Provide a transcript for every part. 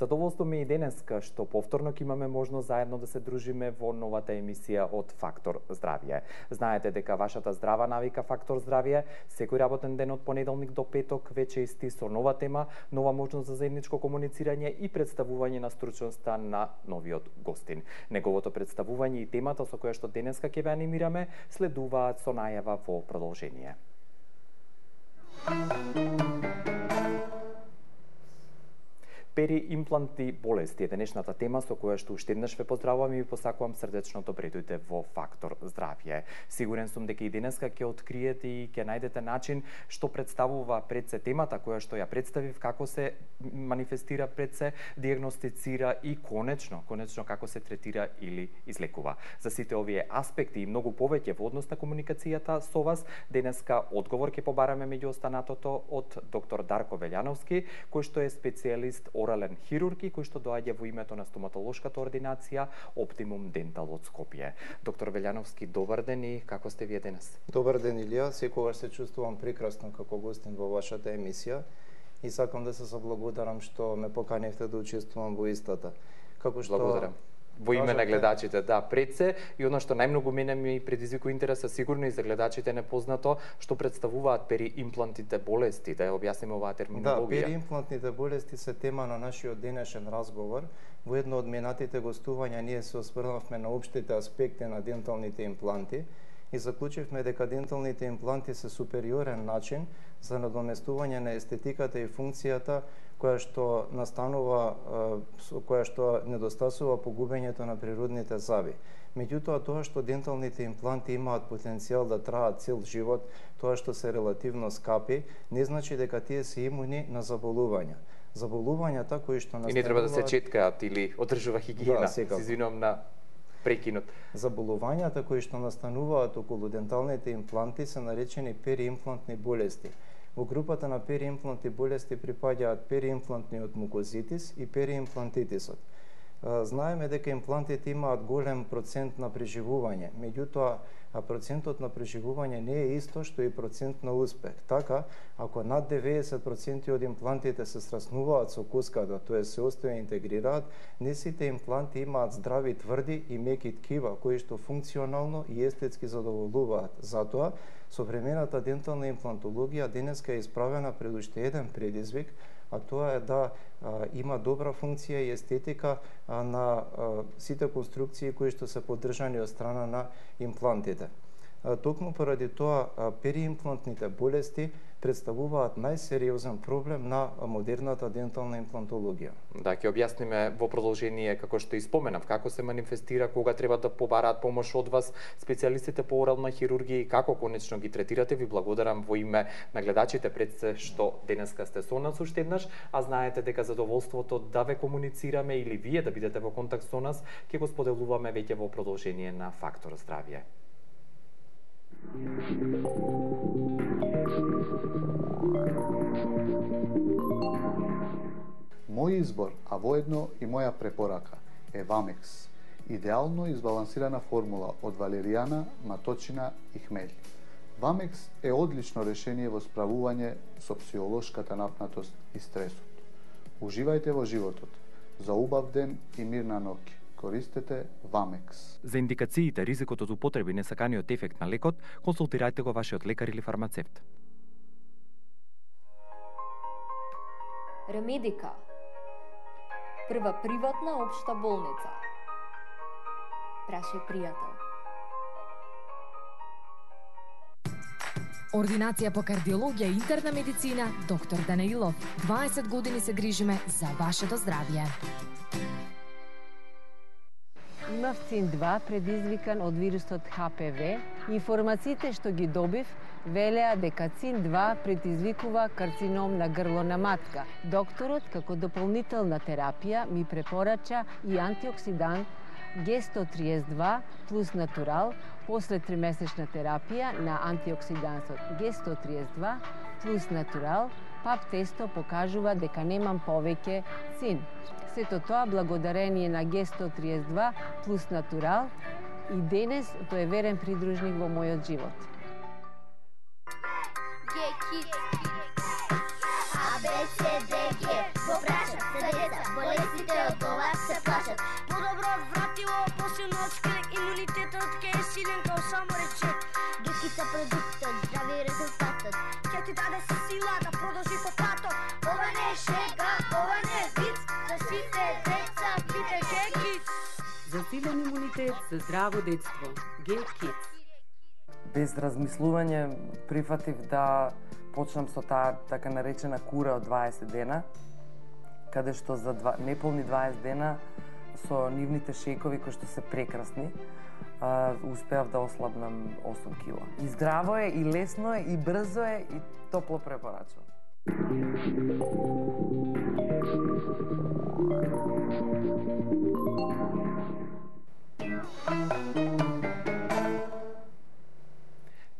Задоволство ми и денеска што повторно ќе имаме можност заедно да се дружиме во новата емисија од Фактор здравје. Знаете дека вашата здрава навика Фактор здравје секој работен ден од понеделник до петок веќе исти со нова тема, нова можност за заедничко комуницирање и представување на стручноста на новиот гостин. Неговото представување и темата со која што денеска ќе ве анимираме следуваат со најава во продолжение. Периимплантни болести е денешната тема со која што уште еднаш ве поздравувам и ви посакувам срдечно добре дојдете во Фактор здравје. Сигурен сум дека и денеска ќе откриете и ќе најдете начин што представува пред се темата која што ја представив, како се манифестира пред се, дијагностицира и конечно како се третира или излекува. За сите овие аспекти и многу повеќе во однос на комуникацијата со вас, денеска одговор ќе побараме меѓу останатото од доктор Дарко Велјановски, кој што е специјалист орален хирург и кој што доаѓа во името на стоматолошката ординација Оптимум Дентал од Скопје. Доктор Велјановски, добар ден и како сте вие денес? Добар ден, Илија. Секогаш се чувствувам прекрасно како гостин во вашата емисија и сакам да се заблагодарам што ме поканивте да учествувам во истата. Како што Благодарам. Во име на гледачите, да, пред се и оно што најмногу мене ми предизвикува интереса, сигурно и за гледачите непознато, што представуваат периимплантните болести, да ја објасниме оваа терминологија. Да, периимплантните болести се тема на нашиот денешен разговор. Во едно од минатите гостувања ние се осврнавме на општите аспекти на денталните импланти и заклучивме дека денталните импланти се супериорен начин за надоместување на естетиката и функцијата која што настанува, која што недостасува погубењето на природните заби. Меѓутоа, тоа што денталните импланти имаат потенцијал да траат цел живот, тоа што се релативно скапи, не значи дека тие се имуни на заболувања. Заболувањата кои што настануваат... И не треба да се четкаат или одржува хигиена. Да, се извинувам на прекинот. Заболувањата кои што настануваат околу денталните импланти се наречени периимплантни болести. Во групата на периимплантни болести припаѓаат периимплантниот мукозитис и периимплантитисот. Знаеме дека имплантите имаат голем процент на преживување, меѓутоа процентот на преживување не е исто што и процент на успех. Така, ако над 90% од имплантите се сраснуваат со куската, тоа се остоја интегрираат, не сите импланти имаат здрави, тврди и меки ткива кои што функционално и естетски задоволуваат. Затоа, современата дентална имплантологија денеска е исправена пред уште еден предизвик, а тоа е да има добра функција и естетика на сите конструкции кои што се поддржани од страна на имплантите. Токму поради тоа периимплантните болести представуваат најсериозен проблем на модерната дентална имплантологија. Да, ќе објасниме во продолжение како што и споменав, како се манифестира, кога треба да побараат помош од вас специјалистите по орална хирургија и како конечно ги третирате. Ви благодарам во име на гледачите пред се што денеска сте со нас уште еднаш, а знаете дека задоволството да ве комуницираме или вие да бидете во контакт со нас ќе го споделуваме веќе во продолжение на Фактор здравје. Мој избор, а воедно и моја препорака е Вамекс, идеално избалансирана формула од валеријана, маточина и хмелј. Вамекс е одлично решение во справување со психолошката напнатост и стресот. Уживајте во животот. За убав ден и мирна ноќ. Користете Вамекс. За индикациите, ризикот од употреба и несаканиот ефект на лекот, консултирајте го вашиот лекар или фармацевт. Ремедика. Прва приватна општа болница. Прашај пријател. Ординација по кардиологија и интерна медицина, доктор Данаилов. 20 години се грижиме за вашето здравје. Имав ЦИН-2 предизвикан од вирусот ХПВ. Информациите што ги добив велеа дека ЦИН-2 предизвикува карцином на грло на матка. Докторот, како дополнителна терапија, ми препорача и антиоксидант Г132 плюс натурал после 3-месечна терапија на антиоксидансот Г132 плюс натурал. ПАП тесто покажува дека немам повеќе цин. Сето тоа благодарение на Г132 плюс натурал и денес тој е верен придружник во мојот живот. А, Б, С, Д, Г, го прашам за деца, болести силен као само речек. Гекица продуктот, здрави резултатот. Ќе ти даде си сила да продолжи по патот. Ова не е шега, ова не е виц. За сите деца пите Гекиц. За силен имунитет, за здраво детство. Гекиц. Без размислување прифатив да почнам со таа така наречена кура од 20 дена, каде што за неполни 20 дена со нивните шејкови кои што се прекрасни, успеав да ослабнам 8 кила. И здраво е, и лесно е, и брзо е, и топло препорачувам.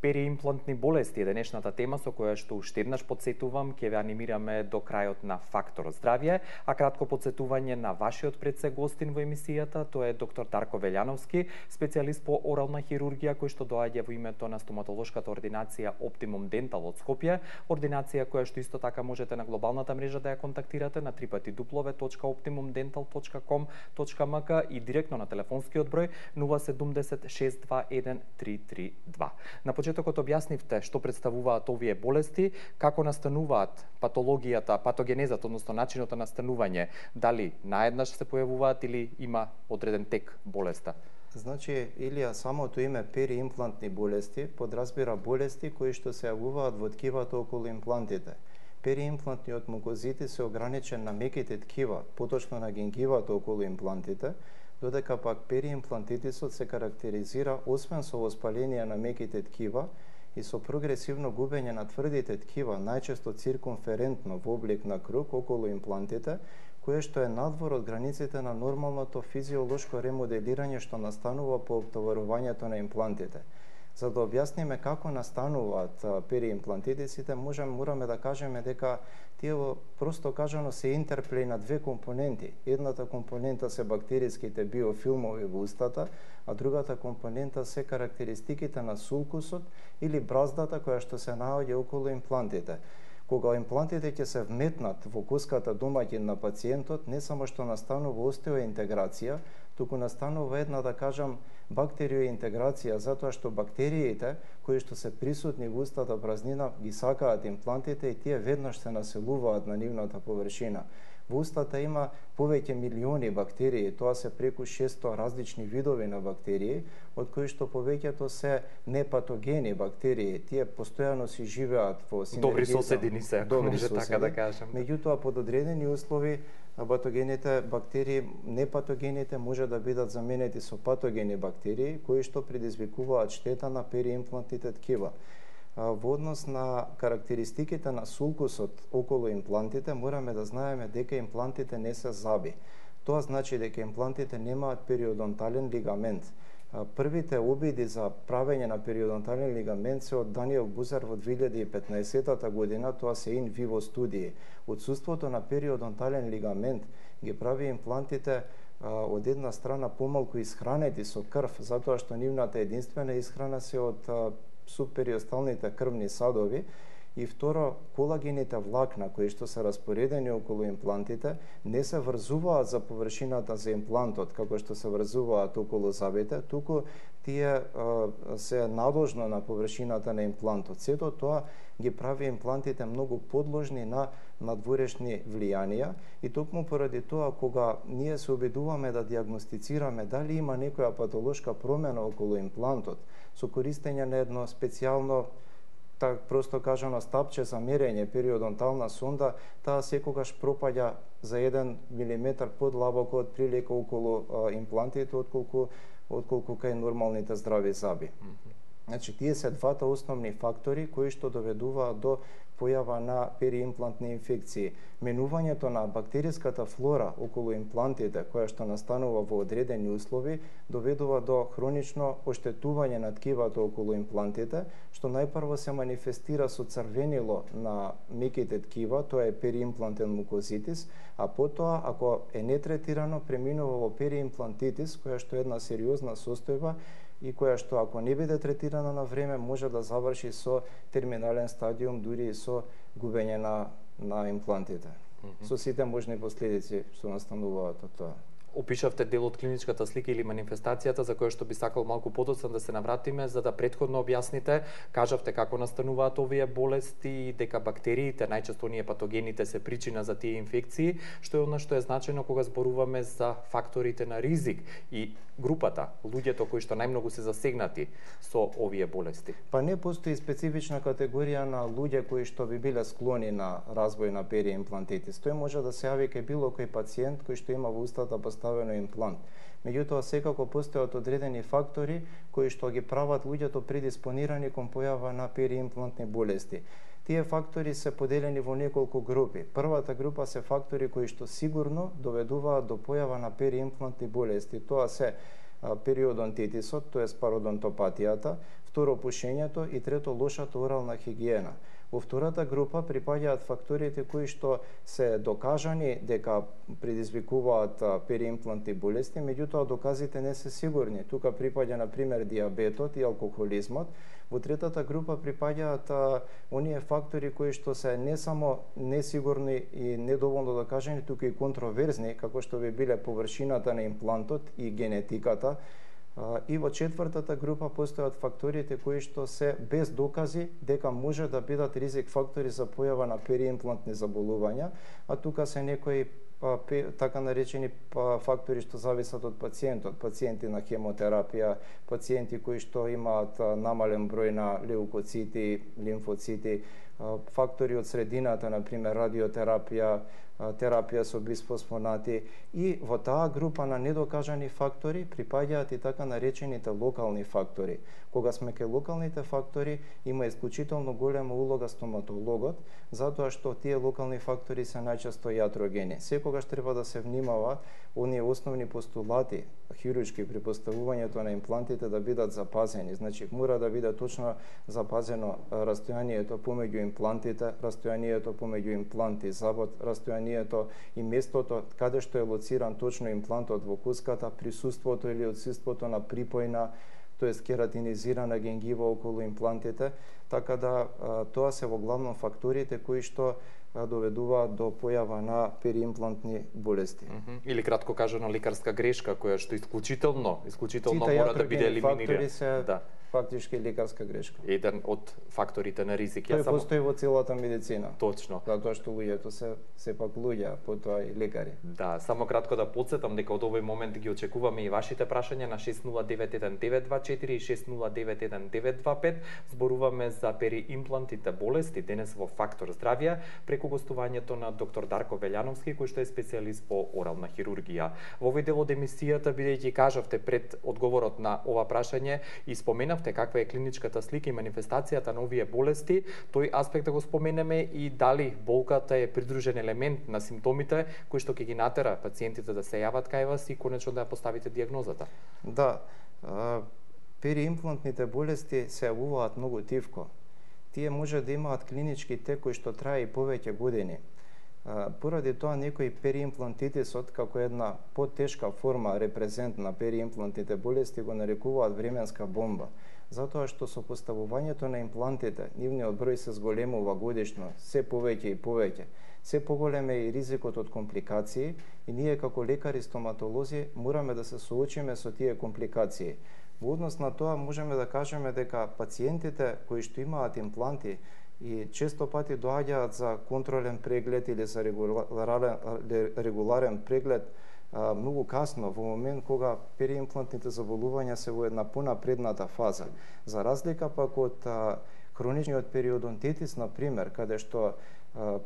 Периимплантни болести е денешната тема со која што уште еднаш подсетувам ќе ве анимираме до крајот на Фактор здравје, а кратко подсетување на вашиот предсе гостин во емисијата, тоа е доктор Дарко Велјановски, специјалист по орална хирургија кој што доаѓа во името на стоматолошката ординација Optimum Dental од Скопје, ординација која што исто така можете на глобалната мрежа да ја контактирате на www.optimumdental.com.mk и директно на телефонскиот број 070 621 332. На почетокот објаснивте што представуваат овие болести, како настануваат патологијата, патогенезата, односно начинот на настанување, дали наеднаш се појавуваат или има одреден тек болеста? Значи, Илија, самото име периимплантни болести подразбира болести кои што се јавуваат во ткивата околу имплантите. Периимплантниот мукозитис се ограничен на меките ткива, поточно на гингивата околу имплантите, додека пак периимплантитисот се карактеризира освен со воспаление на меките ткива и со прогресивно губење на тврдите ткива, најчесто циркумферентно во облик на круг околу имплантите, кое што е надвор од границите на нормалното физиолошко ремоделирање што настанува по обтоварувањето на имплантите. За да објасниме како настануваат периимплантитисите, мораме да кажеме дека тие просто кажано се интерплеј на две компоненти. Едната компонента се бактериските биофилмови во устата, а другата компонента се карактеристиките на сулкусот или браздата која што се наоѓа околу имплантите. Кога имплантите ќе се вметнат во коската домаќин на пациентот, не само што настанува остеоинтеграција, туку настанува една, да кажам, бактериоинтеграција, затоа што бактериите кои што се присутни во устата празнина ги сакаат имплантите и тие веднаш се населуваат на нивната површина. Во устата има повеќе милиони бактерии, тоа се преку 600 различни видови на бактерии, од кои што повеќето се непатогени бактерии. Тие постојано си живеат во синергија. Добри соседини се, ако може така да кажем. Меѓутоа, под одредени услови, патогените бактерии, непатогените може да бидат заменети со патогени бактерии, кои што предизвикуваат штета на периимплантните ткива. Во однос на карактеристиките на сулкусот околу имплантите, мораме да знаеме дека имплантите не се зъби. Тоа значи дека имплантите немаат периодонтален лигамент. Првите обиди за правење на периодонтален лигамент се од Даниел Бузер во 2015 година, тоа се ин виво студии. Отсуството на периодонтален лигамент ги прави имплантите од една страна помалку исхранети со крв, затоа што нивната единствена исхрана се од субпериосталните крвни садови, и второ, колагените влакна кои што се распоредени околу имплантите не се врзуваат за површината за имплантот како што се врзуваат околу зъбите, туку тие се надолжно на површината на имплантот. Сето тоа ги прави имплантите многу подложни на надворешни влијанија и токму поради тоа кога ние се обидуваме да дијагностицираме дали има некоја патолошка промена околу имплантот со користење на едно специјално, так просто кажано, стапче за мерење, периодонтална сонда, таа секогаш пропаѓа за 1 милиметар подлабоко од прилика околу имплантите отколку кај нормалните здрави зъби. Значи, тие се двата основни фактори кои што доведуваат до појава на периимплантни инфекции. Менувањето на бактериската флора околу имплантите, која што настанува во одредени услови, доведува до хронично оштетување на ткивата околу имплантите, што најпрво се манифестира со црвенило на меките ткива, тоа е периимплантен мукозитис, а потоа, ако е нетретирано, преминува во периимплантитис, која што е една сериозна состојба и која што, ако не биде третирана на време, може да заврши со терминален стадиум, дури и со губење на имплантите. Со сите можни последици што настануваат од тоа. опишавте дел од клиничката слика или манифестацијата за која што би сакал малку подоцна да се навратиме, за да претходно објасните, кажавте како настануваат овие болести, дека бактериите, најчесто оние патогените се причина за тие инфекции, што е она што е значено кога зборуваме за факторите на ризик и групата, луѓето кои што најмногу се засегнати со овие болести. Па не постои специфична категорија на луѓе кои што би биле склони на развој на периимплантитис. Тој може да се јави кај било кој пациент кој што има во устата поставено имплант. Меѓутоа, секако постојат одредени фактори кои што ги прават луѓето предиспонирани кон појава на периимплантни болести. Тие фактори се поделени во неколку групи. Првата група се фактори кои што сигурно доведуваат до појава на периимплантни болести. Тоа се периодонтитисот, тоест пародонтопатијата, второ пушењето и трето лошата орална хигиена. Во втората група припаѓаат факторите кои што се докажани дека предизвикуваат периимплантни болести, меѓутоа доказите не се сигурни. Тука припаѓа на пример диабетот и алкохолизмот. Во третата група припаѓаат оние фактори кои што се не само несигурни и недоволно докажани, туку и контроверзни, како што би биле површината на имплантот и генетиката. И во четвртата група постојат факторите кои што се без докази дека може да бидат ризик фактори за појава на периимплантни заболувања, а тука се некои така наречени фактори што зависат од пациентот, пациенти на хемотерапија, пациенти кои што имаат намален број на леукоцити, лимфоцити, фактори од средината, например радиотерапија, терапија со бисфосфонати, и во таа група на недокажани фактори припаѓаат и така наречените локални фактори. Кога сме кај локалните фактори, има исклучително голема улога стоматологот, затоа што тие локални фактори се најчесто јатрогени. Секогаш треба да се внимава оние основни постулати хируршки при поставувањето на имплантите да бидат запазени. Значи, мора да биде точно запазено растојанието помеѓу имплантите, растојанието помеѓу импланти, забот, растојанието и местото каде што е лоциран точно имплантот во куската, присуството или отсуството на припојна, тоест кератинизирана генгива околу имплантите, така да тоа се во главно факторите кои што доведуваат до појава на периимплантни болести. Или кратко кажано лекарска грешка која што исклучително мора да биде елиминирана. Фактички лекарска грешка. Еден од факторите на ризик. Тој постои во целата медицина. Точно. Затоа што луѓето се сепак луѓе, потоа и лекари. Да, само кратко да потсетам дека од овој момент ги очекуваме и вашите прашања на 6091-924 и 6091-925. Зборуваме за периимплантите болести денес во Фактор здравје преку гостувањето на доктор Дарко Велјановски, кој што е специјалист по орална хирургија. Во овој дел од емисијата, бидејќи кажавте пред одговорот на ова прашање и споменавте каква е клиничката слика и манифестацијата на овие болести, тој аспект да го споменеме и дали болката е придружен елемент на симптомите кои што ќе ги натера пациентите да се јават кај вас и конечно да ја поставите диагнозата. Да, периимплантните болести се јавуваат многу тивко. Тие може да имаат клинички тек кои што трае и повеќе години. Поради тоа некои периимплантитисот како една потешка форма репрезент на периимплантните болести го нарекуваат временска бомба, затоа што со поставувањето на имплантите нивниот број се зголемува годишно, се повеќе и повеќе. Се поголем е и ризикот од компликации и ние како лекари стоматолози мораме да се соочиме со тие компликации. Во однос на тоа можеме да кажеме дека пациентите кои што имаат импланти и често пати доаѓаат за контролен преглед или за регуларен преглед многу касно, во момент кога периимплантните заболувања се во една понапредната фаза. За разлика пак од хроничниот периодонтитис, например, каде што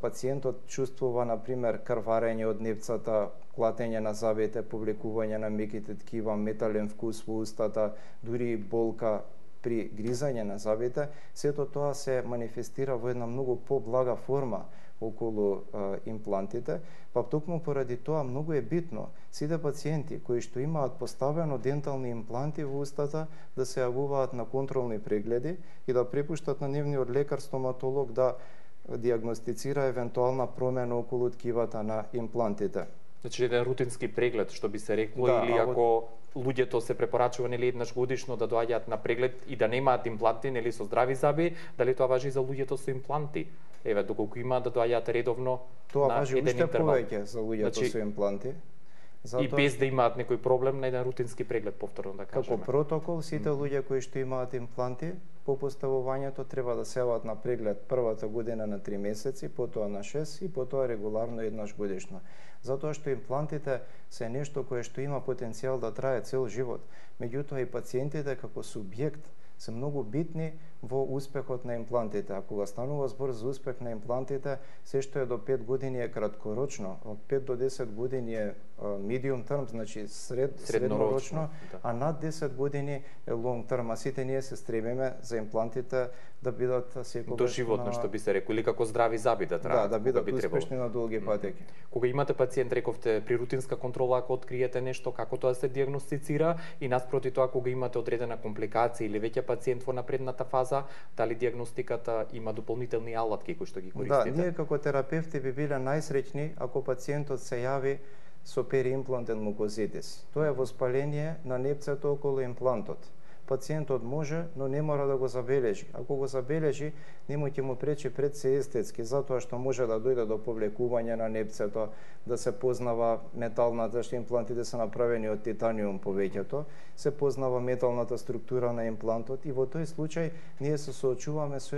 пациентот чувствува, например, крварење од нивцата, клатење на зъбите, повлекување на меките ткива, метален вкус во устата, дури и болка при гризање на зъбите, сето тоа се манифестира во една многу поблага форма околу имплантите, па токму поради тоа многу е битно сите пациенти кои што имаат поставено дентални импланти во устата да се јавуваат на контролни прегледи и да препуштат на нивниот лекар стоматолог да диагностицира евентуална промена околу ткивата на имплантите. Значи еден рутински преглед, што би се рекло, или ако луѓето се препорачува нели еднаш годишно да доаѓаат на преглед и да немаат импланти, нели со здрави зъби, дали тоа важи за луѓето со импланти? Еве, доколку имаат да доаѓаат редовно тоа на важи еден уште интервал. Повеќе за луѓето со импланти. И без да имаат некој проблем на еден рутински преглед, повторно да кажеме. Како протокол, сите луѓе кои што имаат импланти, по поставувањето треба да се јават на преглед првата година на 3 месеци, потоа на 6 и потоа регуларно еднаш годишно. Затоа што имплантите се нешто кое што има потенцијал да трае цел живот. Меѓутоа и пациентите како субјект се многу битни во успехот на имплантите. А кога станува збор за успех на имплантите, се што е до 5 години е краткорочно, од 5 до 10 години е medium term, значи среднорочно, да. А над 10 години е long term. А сите ние се стремиме за имплантите да бидат секогаш доживотно, што би се реколи, како здрави зъби да траат. Да бидат успешни на долги патеки. Кога имате пациент, рековте, при рутинска контрола, ако откриете нешто, како тоа се диагностицира и наспроти тоа кога имате одредена компликација или веќе пациент во напредната фаза, дали диагностиката има дополнителни алатки кои што ги користите? Да, ние како терапевти би биле најсреќни ако пациентот се јави со периимплантен мукозитис. Тоа е воспаление на непцето околу имплантот. Пациентот може, но не мора да го забележи. Ако го забележи, нема ќе му пречи пред се естетски, затоа што може да дојде до повлекување на непцето, да се познава металната, што имплантите се направени од титаниум повеќето, се познава металната структура на имплантот и во тој случај ние се соочуваме со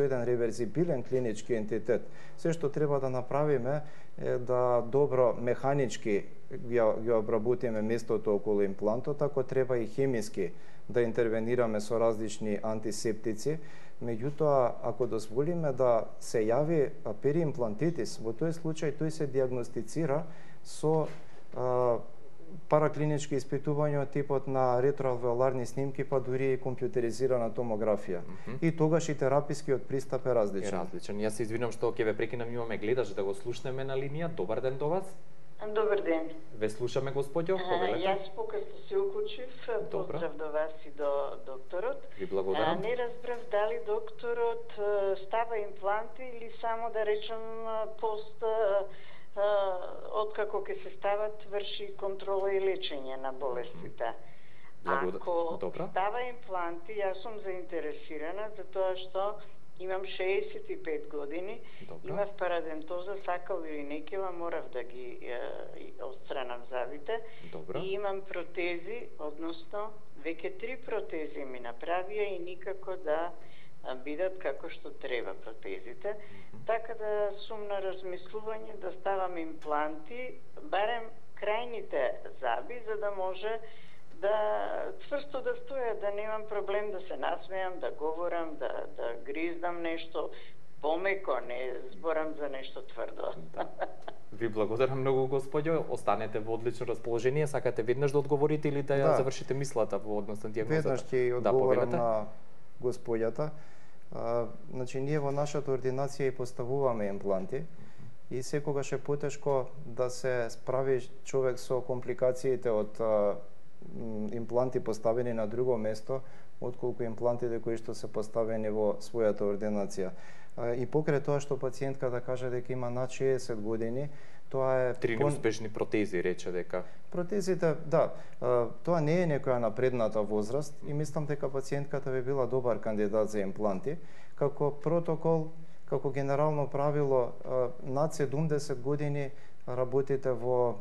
еден реверзибилен клинички ентитет. Се што треба да направиме е да добро механички ги обработиме местото околу имплантот, ако треба и хемиски да интервенираме со различни антисептици. Меѓутоа, ако дозволиме да се јави периимплантитис, во тој случај тој се диагностицира со параклинички испитувања од типот на ретроалвеоларни снимки, па дури и компјутеризирана томографија. И тогаш и терапискиот пристап е различен. Е различен. Јас се извинувам што ќе ве прекинам, имаме гледач да го слушнеме на линија. Добар ден до вас. Добар ден. Ве слушаме, господјо, повелете. Јас покасно се уклучив. Поздрав до вас и до докторот. Ви благодарам. Не разбрав дали докторот става импланти или само да речем пост откако ќе се стават врши контрола и лечење на болестите. Ако става импланти, јас сум заинтересирана за тоа што имам 65 години, имав парадентоза, сакал или некила, морав да ги отстранам зъбите и имам протези, односно веќе 3 протези ми направија и никако да бидат како што треба протезите. Така да сум на размислување да ставам импланти, барем крајните зъби, за да може да цврсто да стоја, да немам проблем да се насмејам, да говорам, да гриздам нешто помеко, не зборам за нешто тврдо. Ви благодарам многу, господјо. Останете во одлично расположение. Сакате веднаш да одговорите или да ја завршите мислата во однос на дијагнозата? Веднаш ќе одговорам на господјата. Значи, ние во нашата ординација и поставуваме импланти и секогаш е потешко да се справи човек со компликациите од импланти поставени на друго место, отколку имплантите кои што се поставени во својата ординација. И покрај тоа што пациентката каже дека има над 60 години, тоа е 3 неуспешни протези, рече дека. Протезите, да, тоа не е некоја напредната возраст и мислам дека пациентката би била добар кандидат за импланти. Како протокол, како генерално правило, над 70 години работите во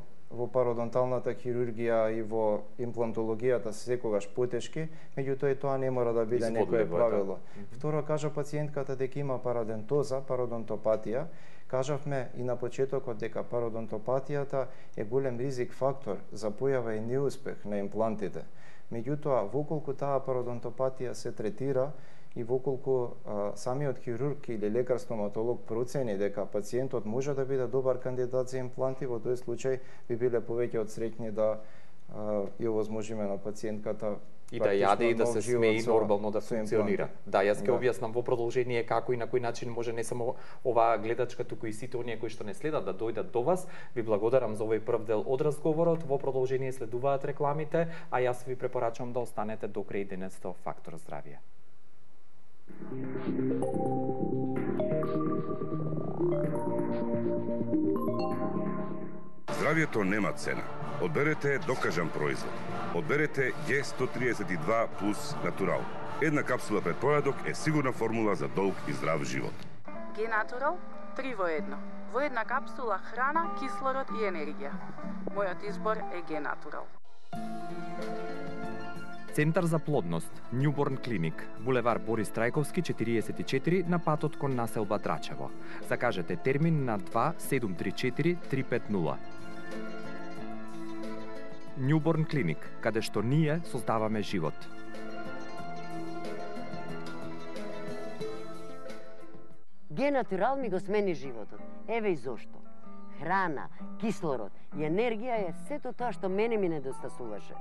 пародонталната хирургија и во имплантологијата секогаш потешки, меѓутоа и тоа не мора да биде некое правило. Второ, кажа пациентката дека има парадентоза, пародонтопатија. Кажавме и на почетокот дека пародонтопатијата е голем ризик фактор за појава и неуспех на имплантите. Меѓутоа, воколку таа пародонтопатија се третира и воколку самиот хирург или лекар-стоматолог процени дека пациентот може да биде добар кандидат за импланти, во тој случај би биле повеќе од среќни да ја овозможиме на пациентката и да јаде и да се смее и нормално да функционира. Да, јас ќе објаснам во продолжение како и на кој начин може не само оваа гледачка, туку и сите оние кои што не следат да дојдат до вас. Ви благодарам за овој прв дел од разговорот. Во продолжение следуваат рекламите, а јас ви препорачувам да останете до крај денес со Фактор здравје. Здравјето нема цена. Одберете докажан производ. Одберете G132 плюс Натурал. Една капсула пред појадок е сигурна формула за долг и здрав живот. Г Натурал 3 во 1. Во една капсула храна, кислород и енергија. Мојот избор е Генатурал. Центар за плодност, Newborn Clinic, булевар Борис Трајковски 44 на патот кон населба Драчево. Закажете термин на 2734 350. Newborn Clinic, каде што ние создаваме живот. Генатурал ми го смени животот. Еве и зошто. Храна, кислород и енергија е сето тоа што мене ми недостасуваше.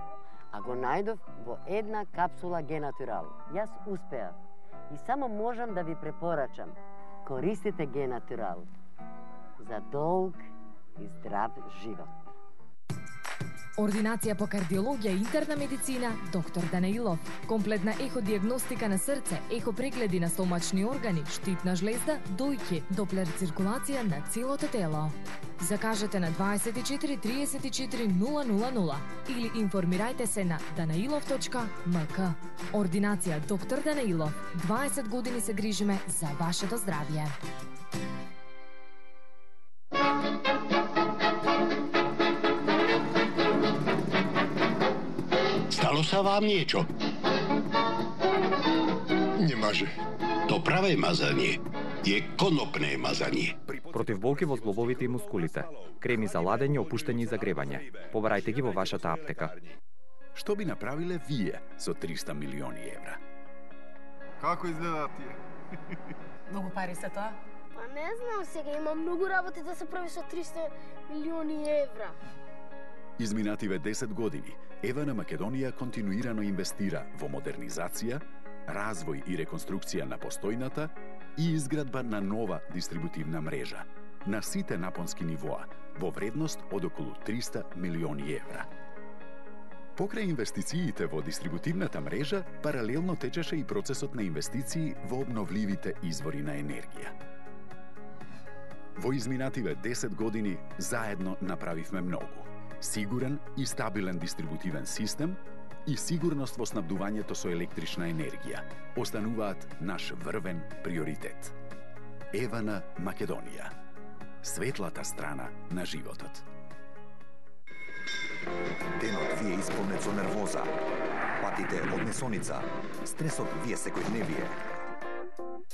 А го најдов во една капсула Генатурал. Јас успеав. И само можам да ви препорачам. Користите Генатурал за долг и здрав живот. Ординација по кардиологија и интерна медицина, доктор Данаилов. Комплетна еходиагностика на срце, ехопрегледи на стомачни органи, штитна жлезда, дојки, доплер циркулација на целото тело. Закажете на 24 34 000 или информирајте се на danailov.mk. Ординација доктор Данаилов. 20 години се грижиме за вашето здравје. Stalo sa vám niečo? Немаже. To pravé mazanie je konopné mazanie. Против болки во зглобовите и мускулите. Креми за ладење, опуштање и загревање. Побарајте ги во вашата аптека. Што би направиле вие со 300 милиони евра? Како изгледа тие? Многу пари се тоа? Па не знам сега, има многу работи да се прави со 300 милиони евра. Изминативе 10 години, Евана Македонија континуирано инвестира во модернизација, развој и реконструкција на постојната и изградба на нова дистрибутивна мрежа на сите напонски нивоа во вредност од околу 300 милиони евра. Покрај инвестициите во дистрибутивната мрежа, паралелно течеше и процесот на инвестиции во обновливите извори на енергија. Во изминативе 10 години заедно направивме многу. Сигурен и стабилен дистрибутивен систем и сигурност во снабдувањето со електрична енергија остануваат наш врвен приоритет. Евана Македонија. Светлата страна на животот. Денот ви е исполнет со нервоза. Патите од несоница. Стресот ви е секојдневие.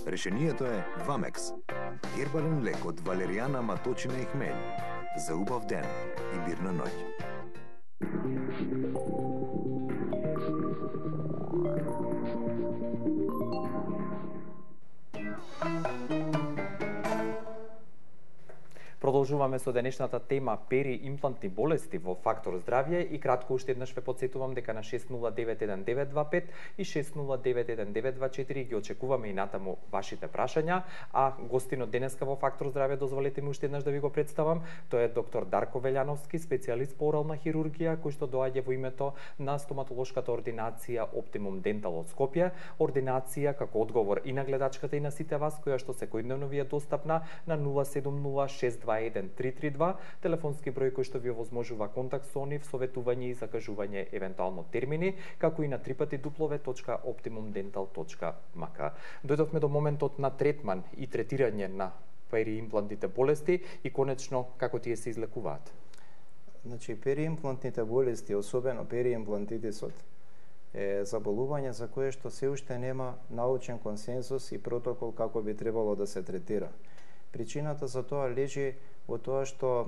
Решението е Вамекс. Гербален лек од валеријана, маточина и хмелј. За убав ден и мирна ноќ. Продолжуваме со денешната тема периимплантни болести во Фактор здравје и кратко уште еднаш ве потсетувам дека на 6091-925 и 6091-924 ги очекуваме и натаму вашите прашања, а гостинот денеска во Фактор здравје, дозволете ми уште еднаш да ви го представам, тој е доктор Дарко Велјановски, специјалист по орална хирургија, кој што доаѓа во името на стоматолошката ординација Optimum Dental од Скопје, ординација како одговор и на гледачката и на сите вас, која што секојдневно ви е достапна на 070-621-332, телефонски број кој што ви овозможува контакт со нив, советување и закажување евентуално термини, како и на www.optimumdental.mk. Дојдовме до моментот на третман и третирање на периимплантните болести и конечно како тие се излекуваат. Значи, периимплантните болести, особено периимплантитисот, е заболување за кое што се уште нема научен консензус и протокол како би требало да се третира. Причината за тоа лежи во тоа што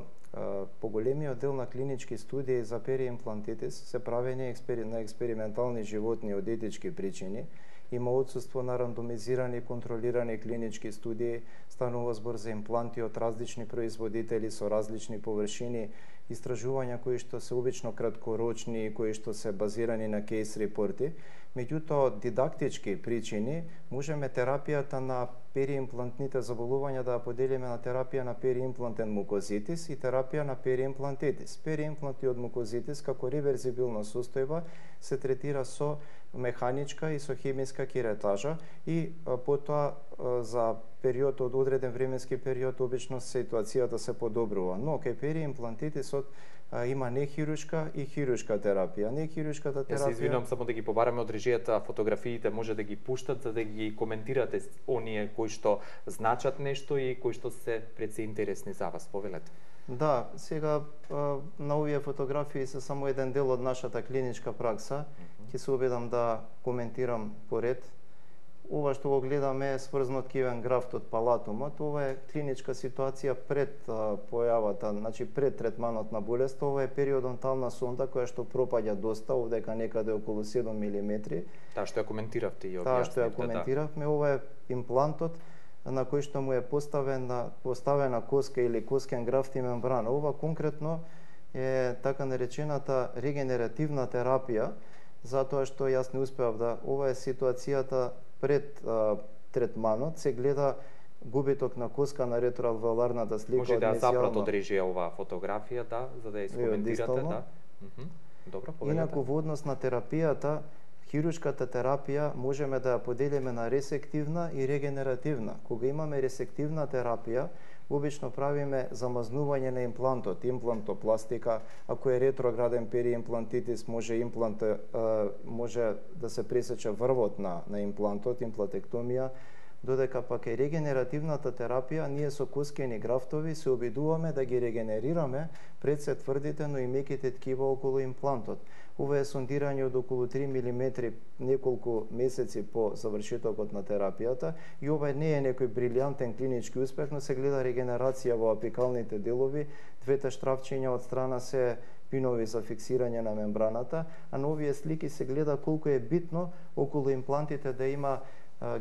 поголемиот дел на клинички студии за периимплантитис се правени на експериментални животни од етички причини. Има отсуство на рандомизирани и контролирани клинички студии, станува збор за импланти од различни производители со различни површини, истражувања кои што се обично краткорочни и кои што се базирани на кейс репорти. Меѓутоа, од дидактички причини можеме терапијата на периимплантните заболувања да поделиме на терапија на периимплантен мукозитис и терапија на периимплантитис. Периимпланти од мукозитис како реверзибилна состојба се третира со механичка и со хемиска керетажа и потоа за период од одреден временски период обично ситуацијата се подобрува. Но кај периимплантитисот има нехируршка и хируршка терапија. Нехируршката терапија... Се извинувам само да ги побараме од режијата, фотографиите може да ги пуштат за да ги коментирате оние кои што значат нешто и кои што се пред се интересни за вас. Повелете. Да, сега на овие фотографии се само еден дел од нашата клиничка пракса. Ќе се обидам да коментирам поред. Ова што го гледаме е сврзано ткивен графт од палатумот. Ова е клиничка ситуација пред појавата, значи пред третманот на болест. Ова е периодонтална сонда која што пропаѓа доста, овдека некаде околу 7 мм. Таа што ја коментиравте и објаснивте. Таа што ја коментиравме, ова е имплантот на кој што му е поставена коска или коскен графт и мембрана. Ова конкретно е така наречената регенеративна терапија, затоа што јас не успеав да... Ова е ситуацијата пред третманот, се гледа губиток на коска на ретроалвеоларната слика. Може да ја запрат од режија оваа фотографија, да, за да ја искоментирате, да. Добро, повелете. Инаку во однос на терапијата, хируршката терапија можеме да ја поделиме на ресективна и регенеративна. Кога имаме ресективна терапија, обично правиме замазнување на имплантот, имплантопластика. Ако е ретрограден периимплантитис, може да се пресече врвот на имплантот, имплантектомија, додека пак е регенеративната терапија, ние со коскени графтови се обидуваме да ги регенерираме пред се тврдите, но и меките ткива околу имплантот. Ова е сондирање од околу 3 мм неколку месеци по завршетокот на терапијата и ова не е некој брилјантен клинички успех, но се гледа регенерација во апикалните делови, двете штрафчиња од страна се пинови за фиксирање на мембраната, а на овие слики се гледа колку е битно околу имплантите да има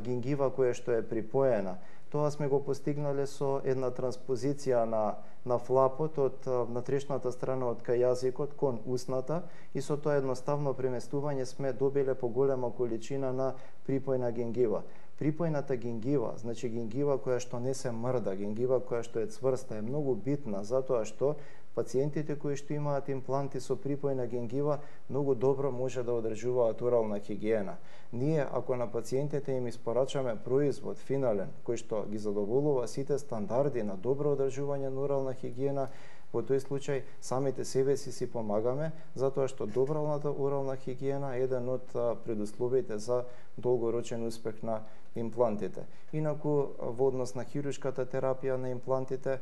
гингива која што е припоена. Тоа сме го постигнале со една транспозиција на флапот од натрешната страна од кај јазикот кон устната и со тоа едноставно преместување сме добиле поголема количина на припојна гингива. Припојната гингива, значи гингива која што не се мрда, гингива која што е цврста, е многу битна затоа што пациентите кои што имаат импланти со припојна гингива многу добро може да одржуваат орална хигиена. Ние, ако на пациентите им испорачаме производ финален, кој што ги задоволува сите стандарди на добро одржување на орална хигиена, во тој случај самите себе си помагаме, затоа што добралната орална хигиена е еден од предусловите за долгорочен успех на имплантите. Инаку, во однос на хируршката терапија на имплантите,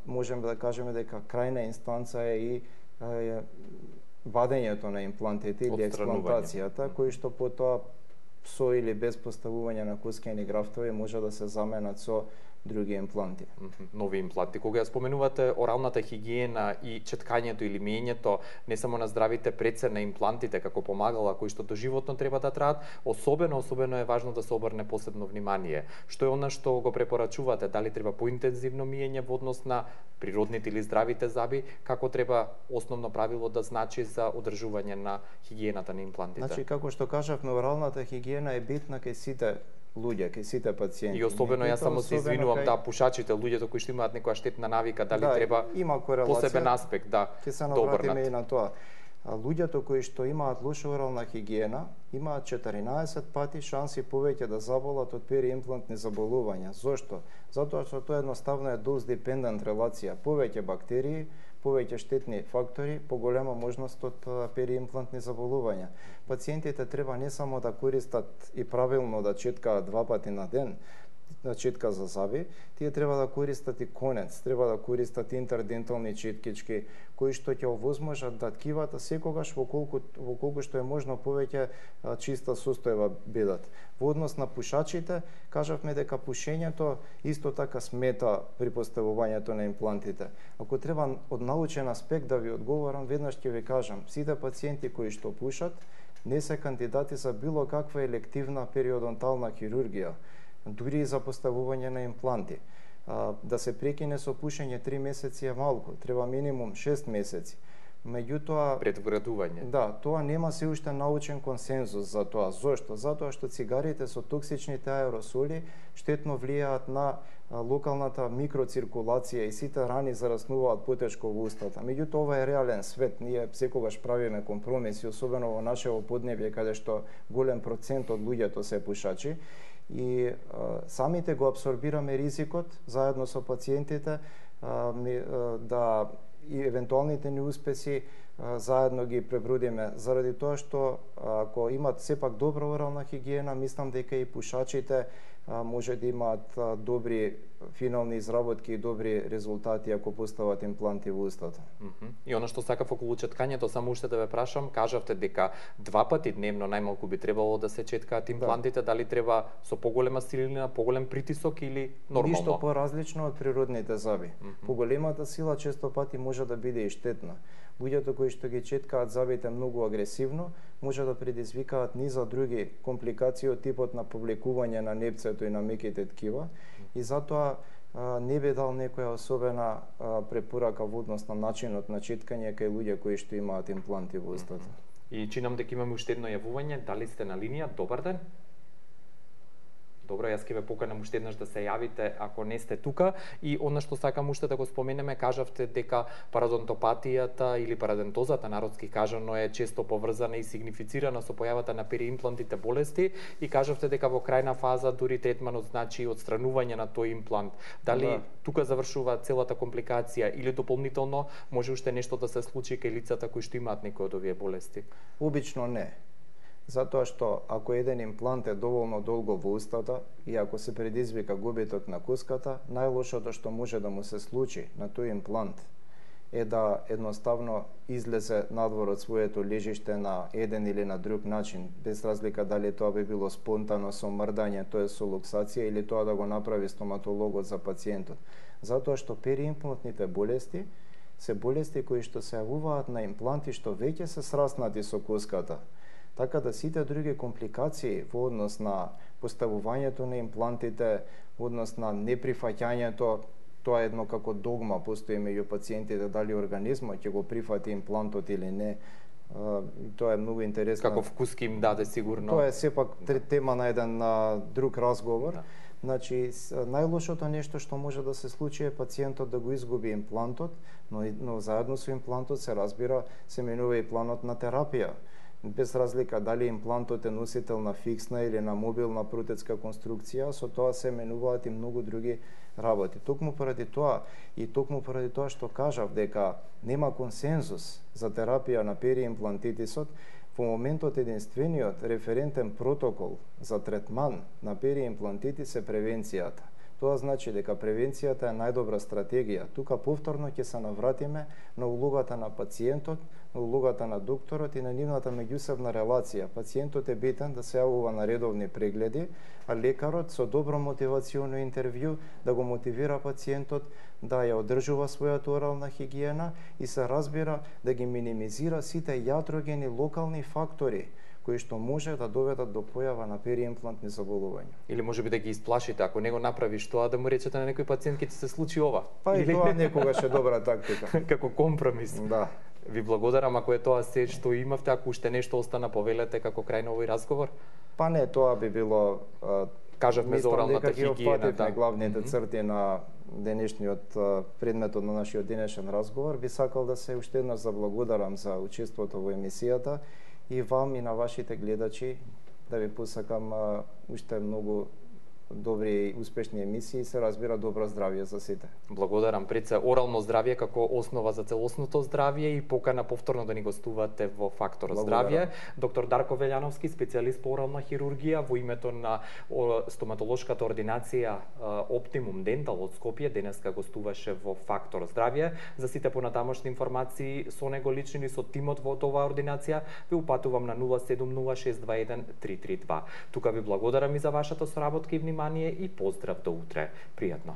можеме да кажеме дека крајна инстанца е и вадењето на имплантите или експлантацијата, кои што потоа со или без поставување на коскени графтови може да се заменат со други импланти. Нови импланти. Кога ја споменувате оралната хигиена и четкањето или миењето не само на здравите предсе на имплантите како помагала кои што доживотно треба да траат, особено е важно да се обрне посебно внимание. Што е она што го препорачувате? Дали треба поинтензивно миење во однос на природните или здравите заби? Како треба основно правило да значи за одржување на хигиената на имплантите? Значи, како што кажавме, оралната хигиена е битна кај сите луѓе, кај сите пациенти. И особено јас само се извинувам, да, пушачите, луѓето кои што имаат некоја штетна навика, дали треба посебен аспект, да, ќе се навратиме и на тоа. Луѓето кои што имаат лоша орална хигиена, имаат 14 пати шанси повеќе да заболат од периимплантни заболувања. Зошто? Затоа што тоа едноставно е dose-dependent релација. Повеќе бактерии, повеќе штетни фактори, поголема можност од периимплантни заболувања. Пациентите треба не само да користат и правилно да четкаат 2 пати на ден, на четка за заби, тие треба да користат и конец, треба да користат интердентални четкички, кои што ќе овозможат да ткивата секогаш во колку што е можно повеќе чиста состојба бидат. Во однос на пушачите, кажавме дека пушењето исто така смета при поставувањето на имплантите. Ако треба од научен аспект да ви одговорам, веднаш ќе ви кажам, сите пациенти кои што пушат не се кандидати за било каква елективна периодонтална хирургија, дури и за поставување на импланти. Да се прекине со пушење 3 месеци е малку, треба минимум 6 месеци. Меѓутоа, предвградување. Да, тоа нема се уште научен консензус за тоа. Зошто? Затоа што цигарите со токсичните аеросоли штетно влијаат на локалната микроциркулација и сите рани зараснуваат потешко во устата. Меѓутоа, ова е реален свет. Ние секогаш правиме компромиси, особено во нашето поднебје, каде што голем процент од луѓето се пушачи. И самите го абсорбираме ризикот, заедно со пациентите, да и евентуалните неуспеси заедно ги пребродиме, заради тоа што ако имат сепак добра орална хигиена, мислам дека и пушачите може да имаат добри финални изработки и добри резултати ако постават импланти во устата. И она што сакав околу четкањето, само уште да ве прашам, кажавте дека 2 пати дневно најмалку би требало да се четкаат имплантите, дали треба со поголема силина, поголем притисок или нормално? Ништо поразлично од природните заби. Поголемата сила често пати може да биде и штетна. Луѓето кои што ги четкаат забите многу агресивно, може да предизвикаат низа други компликации од типот на повлекување на непцето и на меките ткива, и затоа не би дал некоја особена препорака во однос на начинот на четкање кај луѓе кои што имаат импланти во устата. И чинам дека имаме уште едно јавување, дали сте на линија? Добар ден. Добро, јас ќе ве поканам уште еднаш да се јавите ако не сте тука. И она што сакам уште да го споменеме, кажавте дека парадонтопатијата или парадентозата, народски кажано, е често поврзана и сигнифицирана со појавата на периимплантите болести, и кажавте дека во крајна фаза дури третманот значи отстранување на тој имплант. Дали тука завршува целата компликација или дополнително може уште нешто да се случи кај лицата кои што имаат некои од овие болести? Обично не. Затоа што ако еден имплант е доволно долго во устата и ако се предизвика губиток на куската, најлошото што може да му се случи на тој имплант е да едноставно излезе надвор од своето лежиште на еден или на друг начин, без разлика дали тоа би било спонтано со мрдање, тоа е со луксација, или тоа да го направи стоматологот за пациентот. Затоа што периимплантните болести се болести кои што се јавуваат на импланти што веќе се сраснати со куската. Така да сите други компликации во однос на поставувањето на имплантите, во однос на неприфаќањето, тоа е едно како догма, постои меѓу пациентите дали организмот ќе го прифати имплантот или не. Тоа е многу интересно. Како вкуски им даде сигурно. Тоа е сепак тема на еден друг разговор. Значи, најлошото нешто што може да се случи е пациентот да го изгуби имплантот, но заедно со имплантот се разбира, се менува и планот на терапија. Без разлика дали имплантот е носител на фиксна или на мобилна протетска конструкција, со тоа се менуваат и многу други работи. Токму поради тоа што кажав дека нема консензус за терапија на периимплантитисот, во моментот единствениот референтен протокол за третман на периимплантитис е превенцијата. Тоа значи дека превенцијата е најдобра стратегија. Тука повторно ќе се навратиме на улогата на пациентот, на улогата на докторот и на нивната меѓусебна релација. Пациентот е битен да се јавува на редовни прегледи, а лекарот со добро мотивационо интервју да го мотивира пациентот да ја одржува својата орална хигиена и се разбира да ги минимизира сите јатрогени локални фактори кои што може да доведат до појава на периимплантни заболувања. Или можеби да ги исплашите, ако не го направиш тоа, да му речете на некој пациент ќе ти се случи ова. Па и тоа некогаш е добра тактика. Како компромис. Да. Ви благодарам ако е тоа се што имавте, ако уште нешто остана повелете како крај на овој разговор. Па не, тоа би било кажавме за оралната хигиена, да, главните црти на денешниот предметот на нашиот денешен разговор. Би сакал да се уште еднаш заблагодарам за учеството во емисијата и вам и на вашите гледачи да ви посакам уште многу добри и успешни емисии, се разбира добро здравје за сите. Благодарам. Пред се орално здравје како основа за целосното здравје и покана повторно да ни гостувате во Фактор здравје. Доктор Дарко Велјановски, специјалист по орална хирургија, во името на стоматолошката ординација Оптимум Дентал од Скопје, денеска гостуваше во Фактор здравје. За сите понатамошни информации со него лични со тимот во оваа ординација ви упатувам на 070621332. Тука ви благодарам и за вашата соработка и внимание и поздрав до утре. Пријатно.